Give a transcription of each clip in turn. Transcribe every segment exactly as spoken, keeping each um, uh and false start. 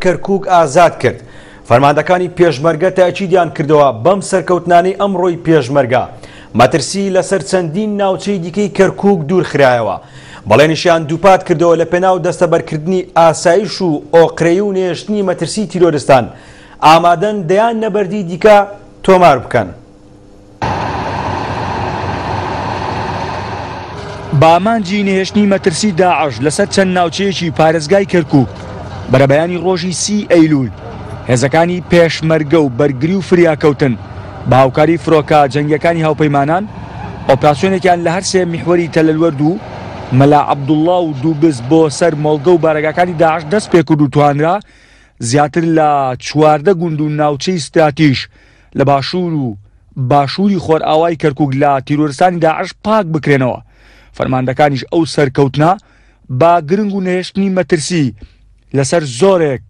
کەرکوک ئازاد کرد. فەرماندەکانی پێشمەرگە تاکیدیان کردەوە بەم سەرکەوتنانەی ئەمڕۆی پێشمەرگە مەترسی لەسەر چەندین ناوچەی دیکەی کەرکوک دوورخرایەوە. بەڵێنیشیان دووپات کردەوە لە پێناو دەستەبەرکردنی ئاسایش و ئۆقرەی و نێشتنی مەترسی تیرۆرستان ئامادەن دەیان نەبەردی دیکە تۆمار بکەن. بە ئامانجی نەهێشتنی مەترسی داعش لەسەر چەند ناوچەیەکی پارێزگای کەرکوک بەرەبەیانی ڕۆژی سی ئەیلول هێزەکانی پێشمەرگە و بەرگری و فریاکەوتن بە هاوکاری فرۆکە جەنگیەکانی هاوپەیمانان ئۆپراسیۆنێکیان لە هەر سێ میحوەری تەلەلوەرد و مەلا عەبدوڵڵا و دووبز بۆ سەر مۆڵگە و بارەگاکانی داعش دەست پێکرد و توانرا زیاتر لە چواردە گوند و ناوچەی ستراتیژ لە باشوور و باشووری خۆرئاوای کەرکوک لە تیرۆرستانی داعش پاک بکرێنەوە. فەرماندەکانیش ئەو سەرکەوتنە با گرنگ و نەهێشتنی مەترسی لەسەر زۆرێک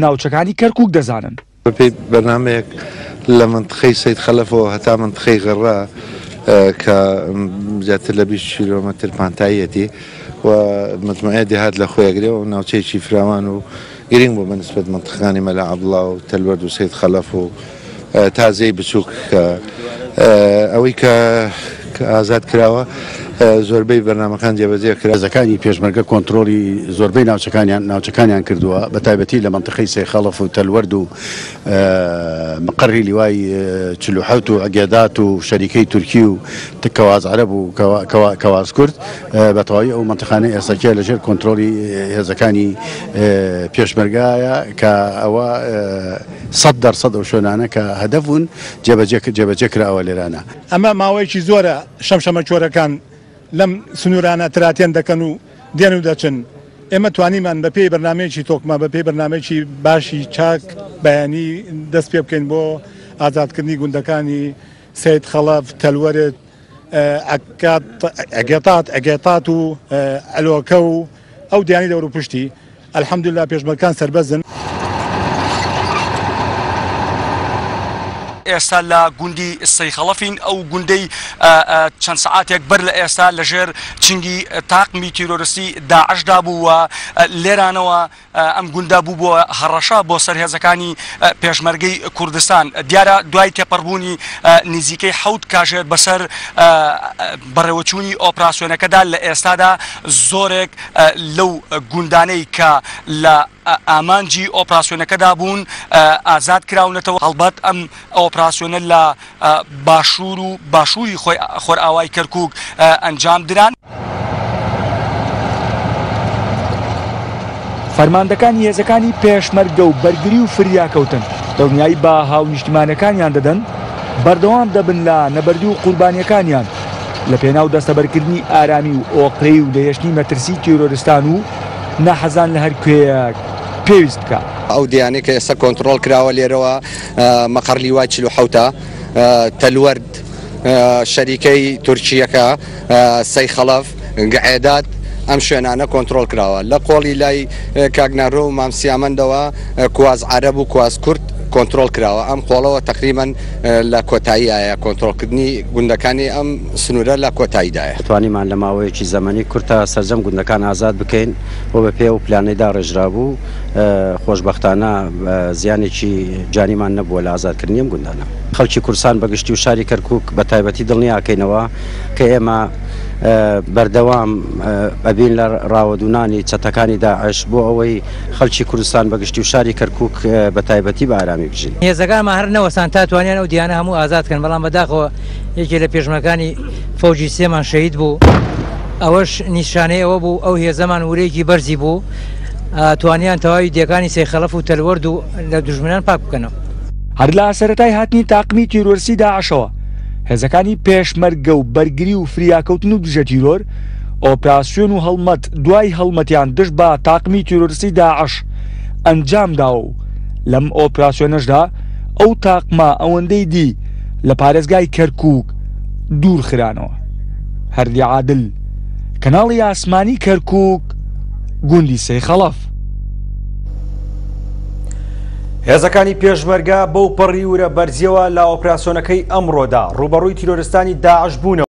ناوچەکانی کەرکوک دەزانن. بەپێی بەرنامەیەک لە منطقەی سەید خەلەفەوە هەتا منطقەی غەڕە کە زیاتر لە بیست کیلۆمەتر پانتاییەتی و مجموعەیە دێهات لە خۆیەگرێ و ناوچەیەکی فراوان و گرنگ بوو بە نسبەت منطقەکانی مەلا عەبدوڵڵا و تەلوەرد و سەید خەلەف و تازەی بچووک ئەوەی کە ئازاد کراوە زۆربەی بەرنامەکان جێبەجێ کرا. هێزەکانی پێشمەرگە کۆنترۆڵی زۆربەی ناوچەکانیان ناوچەکانیان کردووە بە تایبەتی لە منطقەی سەیخەڵەف و تەلوەرد و مقەڕی لیوای چل و حەوت و عگێدات و شەریکەی تورکی و کەواز عەرەب و کەواز کورد بە تەواوی ئەو منطقانەی ئێستاکە لەژێر کۆنترۆڵی هێزەکانی پێشمەرگایە کە ئەوە سەد دەرسەد ئەو شوێنانە کە هەدەف بوون جێبەجێ کراوە لێرانە. ئەمە ماوەیەکی زۆرە شەمشەمە چۆرەکان لەم سنوورانە تراتێن دەکەن و دێن و دەچن. ئێمە توانیمان بە پێی بەرنامەیەکی تۆکمە بە پێی بەرنامەیەکی باشی چاک بەیانی دەست پێ بکەین بۆ ئازادکردنی گوندەکانی سەید خەڵەف، تەلوەرد، ئەگێتات ئەگێتات و ئەلۆکە و ئەو دیانی دەور و پشتی. الحەمدلله پێشمەرگەکان سەربەزن. ئێستا لە گوندی سەیخەڵەفین، ئەو گوندەی چەند سەعاتێک بەر لە ئێستا لەژێر چنگی تاقمی تیرۆرستی داعشدا بوو و لێرانەوە ئەم گوندە بوو بۆ هەڕەشە بۆ سەر هێزەکانی پێشمەرگەی کوردستان. دیارە دوای تێپەڕبوونی نزیکەی حەوت کاژێر بەسەر بەڕێوەچوونی ئۆپراسیۆنەکەدا لە ئێستادا زۆرێک لەو گوندانەی کە لە ئامانجی ئۆپراسیۆنەکەدا بوون ئازاد کراونەتەوە. هەڵبەت ئەم ئۆپراسیۆنە لە باشوور و باشووری خۆرئاوای کەرکوک ئەنجام دران. فەرماندەکانی هێزەکانی پێشمەرگە و بەرگری و فریاکەوتن دڵنیایی بە هاونیشتیمانەکانیان دەدەن بەردەوام دەبن لە نەبەردی و قوربانیەکانیان لە پێناو دەستەبەرکردنی ئارامی و ئۆقرەی و لەهێشتنی مەترسی تیرۆرستان و ناحەزان لە هەر کوێیەک پێویست بکە. ئەو دیانەی کە ئێستا کۆنترۆڵ کراوە لێرەوە مەقەڕ لیوای چل و حەوتە، تەلوەرد، شەریکەی تورکیەکە، سەیخەڵەف، گعێدات، ئەم شوێنانە کۆنترۆڵ کراوە. لە قۆڵی لای کاگنارۆ و مامسیامەندەوە کواز عەرەب و کواز کورد کۆنترۆڵ کراوە. ئەم قۆڵەوە تقریبان لە کۆتاییایە کۆنترۆڵکردنی گوندەکانی ئەم سنوورە لە کۆتاییدایە. توانیمان لە ماوەیەکی زەمەنی کورتە سەرجەم گوندەکان ئازاد بکەین و بە پێ و پلانەیدا ڕێژرا بوو. خۆشبەختانە زیانێکی جانیمان نەبووە لە ئازادکردنی ئەم گوندانە. خەڵکی کوردستان بەگشتی و شاری کەرکوک بە تایبەتی دڵنیاکەینەوە کە ئێمە بەردەوام ئەبین لە ڕاوەدوونانی چەتەکانی داعش بۆ ئەوەی خەڵکی کوردستان بەگشتی و شاری کەرکوک بە تایبەتی بە ئارامی بژین. هێزەکانمان هەر نەوەسان تا توانیان ئەو دیانە هەموو ئازاد کەن، بەڵام بەداخەوە یەکێ لە پێشمەکانی فەوجی سێمان شەهید بوو. ئەوەش نیشانەی ئەوە بوو ئەو هێزەمان ورەیەکی بەرزی بوو، توانیان تەواوی دێکانی سەیخەڵەف و تەلوەرد و لە دوژمنان پاک بکەنەوە. هەر لە سەرەتای هاتنی تاقمی تیرۆرستی داعشەوە هێزەکانی پێشمەرگە و بەرگری و فریاکەوتن و دژە تیرۆر ئۆپراسیۆن و هەڵمەت دوای هەڵمەتیان دژ بە تاقمی تیرۆرستی داعش ئەنجام داوە و لەم ئۆپراسیۆنەشدا ئەو تاقمە ئەوەندەی دی لە پارێزگای کەرکوک دوور خرانەوە. هەردی عادل، کەناڵی ئاسمانی کەرکوک، گوندی سەیخەڵەف. هێزەکانی پێشمەرگە بەو پەڕی ورە بەرزیەوە لە ئۆپراسیۆنەکەی ئەمڕۆدا ڕووبەڕووی تیرۆرستانی داعش بوونەوە.